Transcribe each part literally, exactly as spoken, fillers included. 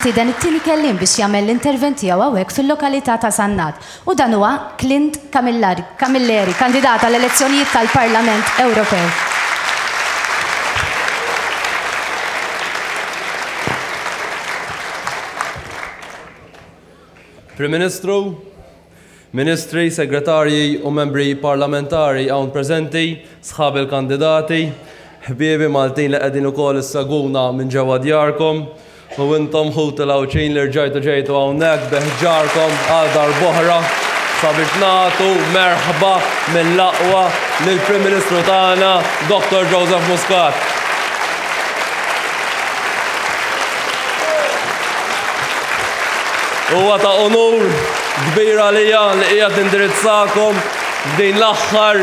Nistieden it-tieni kelliem biex jagħmel l-intervent tiegħu hawnhekk fil-lokalità ta' Sannat. U dan huwa Clint Camilleri, kandidat għall-elezzjonijiet tal-Parlament Ewropew. Prim Ministru, Ministri, Segretarji u membri parlamentari hawn preżenti, sħab il-kandidati, ħbiebi Maltin li qegħdin ukoll issegwuna minn ġewwa djarkom, u intom ħuti l-Għawdxin li rġajtu ġejtu hawnhekk bi ħġarkom għal darb'oħra sabiex nagħtu merħba mill-aqwa lill-Prim Ministru tagħna, Doktor Joseph Muscat. Huwa ta' onur kbir għalija li qiegħed nindirizzakom f'din l-aħħar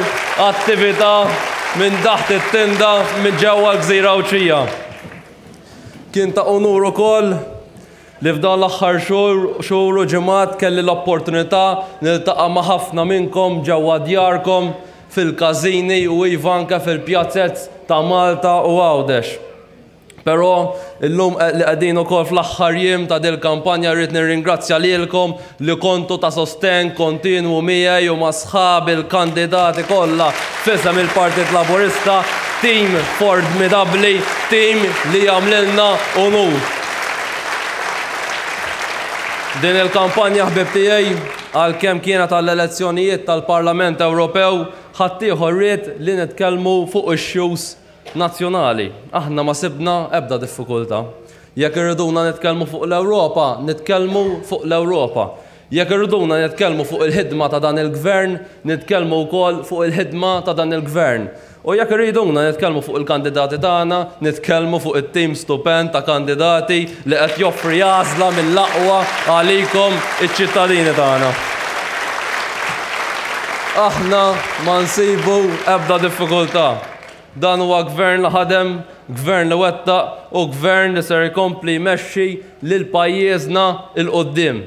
attività minn taħt it-tinda minn ġewwa l-Gżira Għawdxija. Kien ta' onur ukoll li f'dan l-aħħar xhur u ġimgħat kelli l-opportunità niltaqa' ma' ħafna minnkom ġewwa djarkom fil-każini u iva anke fil-pjazzezz ta' Malta u Għawdex. Però illum li qegħdin ukoll fl-aħħar jiem ta' dil kampanja rrid nirringrazzja lilkom li kontu ta' sostenn kontinwu miegħi u ma' sħab il-kandidati kollha f'isem il-Partit Laburista, tim formidabbli, tim li jagħmlilna onur. Din il-kampanja ħbib tiegħi għalkemm kienet għall-elezzjonijiet tal-Parlament Ewropew, ħaddieħor ried li nitkellmu fuq issues nazzjonali. Aħna ma sibna ebda diffikultà. Jekk irriduna nitkellmu fuq l-Ewropa, nitkellmu fuq l-Ewropa. Jekk irriduna nitkellmu fuq il-ħidma ta' dan il-gvern, nitkellmu wkoll fuq il-ħidma ta' dan il-gvern. U jekk irriduna nitkellmu fuq il-kandidati tagħna, nitkellmu fuq it-tim stupend ta' kandidati li qed joffri għażla mill-aqwa għalikom iċ-ċittadini tagħna. Aħna ma nsibu ebda diffikultà. Dan huwa gvern li ħadem, gvern li wettaq u gvern li ser ikompli jmexxi lil pajjiżna il quddiem.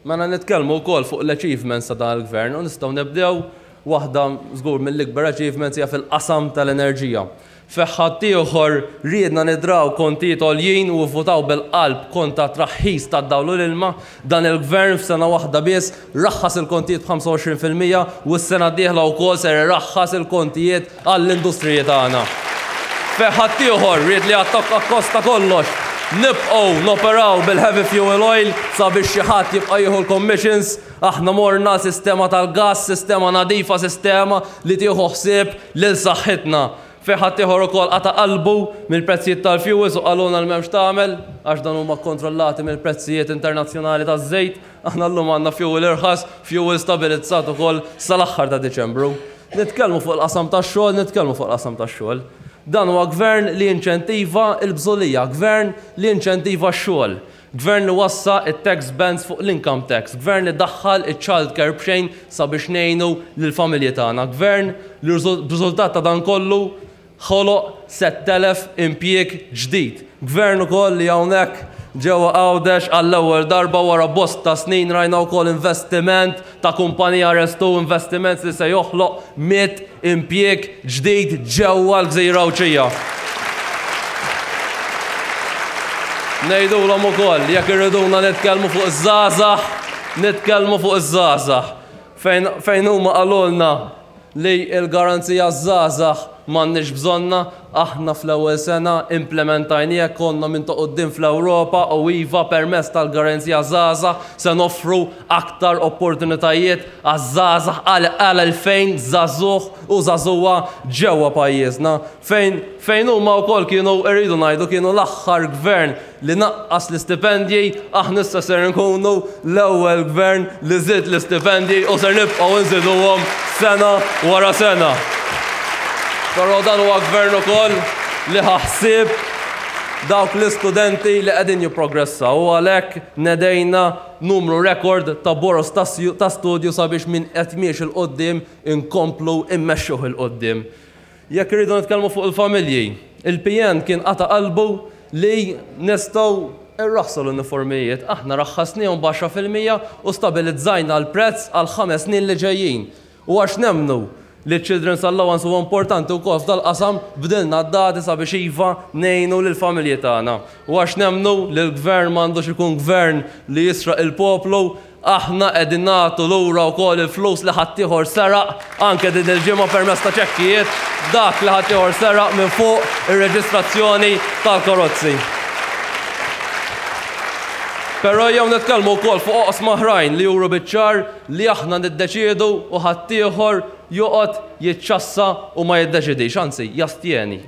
Mela nitkellmu wkoll fuq l-achievements ta' dan il-gvern u nistgħu nibdew waħda żgur mill-ikbar achievements hija fil-qasam tal-enerġija. Fejn ħaddieħor riedna nidraw kontijiet għoljin u votaw bil-qalb kontra traħħis tad-dawl u l-ilma, dan il-gvern f'sena waħda biss raħħas il-kontijiet b'ħamsa u għoxrin fil-mija u s-sena d-dieħla wkoll ser irraħħas il-kontijiet għall-industriji tagħna. Fejn ħaddieħor ried li attakka kosta kollox, nibqgħu noperaw bil-heavy fuel oil sabiex xi ħadd jibqa' jieħu l-commissions, aħna morna sistema tal-gas, sistema nadifa, sistema li tieħu ħsieb lil saħħitna. Fejn ħaddieħor ukoll qata' qalbu mill-prezzijiet tal-fuels u qalulna li m'hemmx tagħmel għax dan huma kkontrollati mill-prezzijiet internazzjonali taż-żejt, aħna llum għandna fuel irħas, fuel stabilizzat ukoll sal-aħħar ta' Diċembru. Nitkellmu fuq il-qasam tax-xogħol, nitkellmu fuq il-qasam tax-xogħol. Dan huwa gvern li inċentiva l-bżulija, gvern li inċentiva x-xogħol, gvern li wassa it-tax bands fuq l-income tax, gvern li daħħal iċ-child care b'xejn sabiex ngħinu lill-familji tagħna, gvern li b'riżultat ta' dan kollu ħoloq sett elef impjieg ġdid. Gvern ukoll li hawnhekk ġewwa Għawdex għall-ewwel darba wara bosta snin rajna wkoll investiment ta' kumpanija Restu, investiment li se joħloq mitt impjieg ġdid ġewwa l-Gżira Għawdxija. Ngħidulhom ukoll jekk irriduna nitkellmu fuq iż-żgħażagħ, nitkellmu fuq iż-żgħażagħ. Fejn, fejn huma qalulna li l-garanzija żgħażagħ m'għandniex bżonna, aħna fl-ewwel sena implementajniha, konna minn ta' quddiem fl-Ewropa u iva permezz tal-garanzija żgħażagħ se noffru aktar opportunitajiet għaż-żgħażagħ għal, għal elfejn żagħżugħ u żagħżugħa ġewwa pajjiżna. Fejn, fejn huma wkoll kienu rridu ngħidu kienu l-aħħar gvern li naqqas l-istipendji, aħna issa ser nkunu l-ewwel gvern li żied l-istipendji u ser nibqgħu nżiduhom sena wara sena. Però dan huwa gvern ukoll li ħaħsib dawk l-istudenti li qegħdin jipprogressaw u għalhekk nedejna numru rekord ta' boros ta' sju-, ta' studju sabiex min qed miexi 'l quddiem inkomplu immexxuh 'il quddiem. Jekk irridu nitkellmu fuq il-familji, il-P N kien qata' qalbu li nistgħu irraħsu l-uniformijiet, aħna raħħasniehom b'għaxra fil-mija u stabilizzajna l-prezz għal ħames snin li ġejjin. U għax nemmnu li Children's Allowance huwa importanti wkoll f'dal-qasam, bdilna d-dati sabiex iva ngħinu lill-familji tagħna. U għax nemmnu li l-gvern m'għandux ikun gvern li jisraq il-poplu, aħna qegħdin nagħtu lura wkoll il-flus li ħaddieħor seraq anke din il-ġimgħa permezz ta' ċekkijiet, dak li ħaddieħor seraq minn fuq ir-reġistrazzjoni tal-karozzi. Però jew nitkellmu wkoll fuq oqsma oħrajn li juru biċ-ċar li aħna niddeċiedu u ħaddieħor joqgħod jiċċassa u ma jiddeċidix, anzi jastjeni.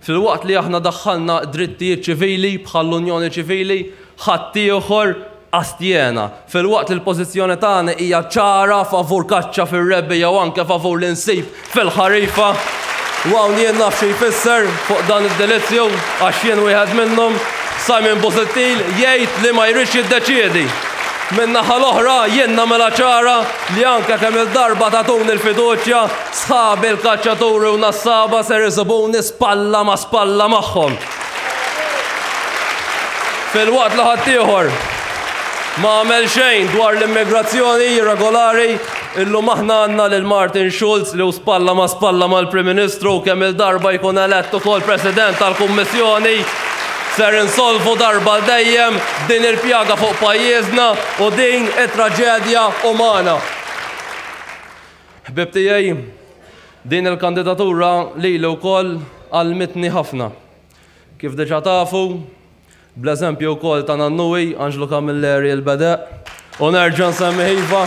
Filwaqt li aħna daħħalna drittijiet ċivili bħall-Unjoni Ċivili, ħaddieħor astjena. Filwaqt li l-pożizzjoni tagħna hija ċara favur kaċċa fir-rebbiegħa jew anke favur l-insib fil-ħarifa. U hawn jien naf xi jfisser fuq dan id-delizzju għax jien wieħed minnhom. Simon Busuttil jgħid li ma jridx jiddeċiedi. Min-naħa l-oħra jien nagħmilha ċara li anke kemm il-darba tagħtuni l-fiduċja, sħabi l-kaċċaturi u nassaba ser isibuni spalla ma' spalla magħhom. Filwaqt li ħaddieħor ma għamel xejn dwar l-immigrazzjoni irregolari, illum aħna għandna lil Martin Schulz li hu spalla ma' spalla mal-Prim Ministru kemm il-darba jkun elett ukoll President tal-Kummissjoni. Ser insolvu darba dejjem din il-pjaga fuq pajjiżna u din it-traġedja umana. Ħbib tiegħi, din il-kandidatura lili wkoll għallmitni ħafna. Kif diġà tafu, bl-eżempju wkoll ta' nannuwi Angelo Camilleri l-Bedeq, u nerġa' nsemmi iva,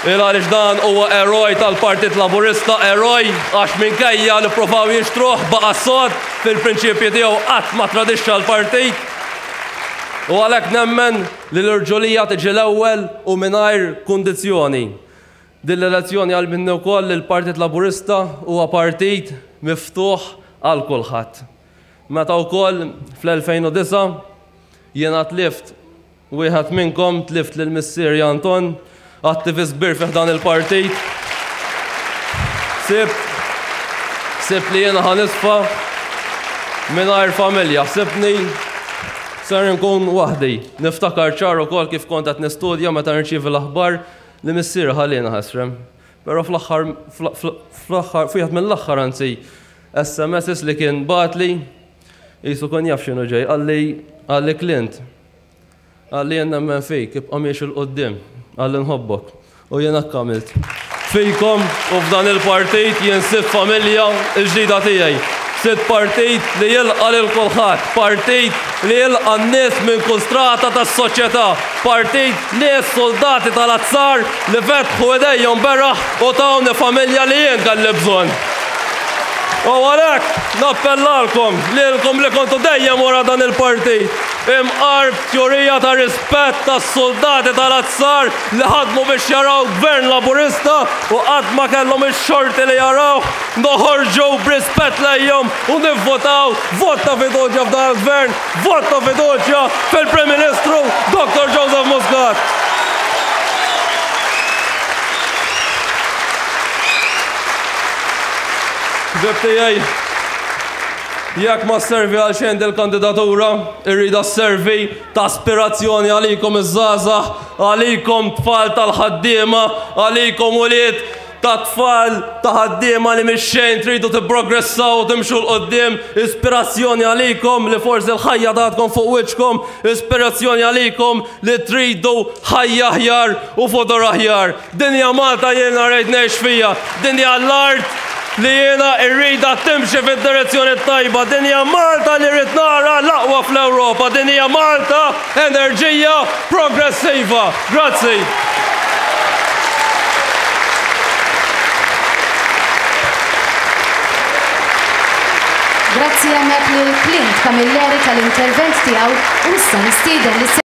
il għaliex dan huwa eroj tal-Partit Laburista, eroj għax minkejja li provaw jixtruh baqa' sod fil-prinċipji tiegħu qatt ma tradixxa l-partit. U għalhekk nemmen li l-irġulija tiġi l-ewwel u mingħajr kundizzjoni. Din l-elezzjoni għallmitni wkoll li l-Partit Laburista huwa partit miftuħ għal kulħadd. Meta wkoll fl-elfejn u disgħa jiena tlift wieħed minnkom, tlift lil missieri Anton, attivist kbir fi ħdan il-partit. Sib, sib li jiena ħanisfa mingħajr familja, sibni ser nkun waħdi. Niftakar ċar ukoll kif kont qed nistudja meta nirċievi l-aħbar li missieri ħalliena ħesrem. Però fl-aħħar, fl-aħħar, f'wieħed mill-aħħar anzi S M Ss li kien bagħatli, qisu kien jaf x'inhu ġej, qalli, qalli Clint, qalli jien nemmen fik, ibqa' miexi 'l quddiem, qalli nħobbok. U jien hekk għamilt. Fikom u f'dan il-partit jien sitt familja l-ġdida tiegħi. Sitt partit li jilqa' lil kulħadd, partit li jilqa' n-nies minn kull strata tas-soċjetà, partit nies soldati tal-azzar li fetħu idejhom beraħ u tawni familja li jien kelli bżonn. U għalhekk nappellalkom lilkom li kontu dejjem wara dan il-partit, imqar b'teorija ta' rispett tas-soldati tal-azzar li ħadmu biex jaraw gvern Laburista u qatt ma kellhom ix-xorti li jaraw, noħorġu b'rispett lejhom u nivvotaw vot ta' fiduċja f'dan il-gvern, vot ta' fiduċja fil-Prim Ministru Doktor Joseph Muscat. Ħbib tiegħi, jekk ma sservi għal xejn dil-kandidatura, irridha sservi ta' aspirazzjoni għalikom iż-żgħażagħ, għalikom tfal tal-ħaddiema, għalikom ulied ta' tfal ta' ħaddiema li mhix xejn tridu tipprogressaw u timxu 'l quddiem, ispirazzjoni għalikom li forsi l-ħajja tatkom fuq wiċċkom, ispirazzjoni għalikom li tridu ħajja aħjar u futur aħjar. Din hija Malta jiena rrid ngħix fija, din hija l-art li jiena rridha timxi fid-direzzjoni tajba, din hija Malta li rrid nara l-aqwa fl-Ewropa, din hija Malta enerġija progressiva. Grazzi. Grazzi hemmhekk lil Clint Camilleri tal-intervent tiegħu u issa nistieden lis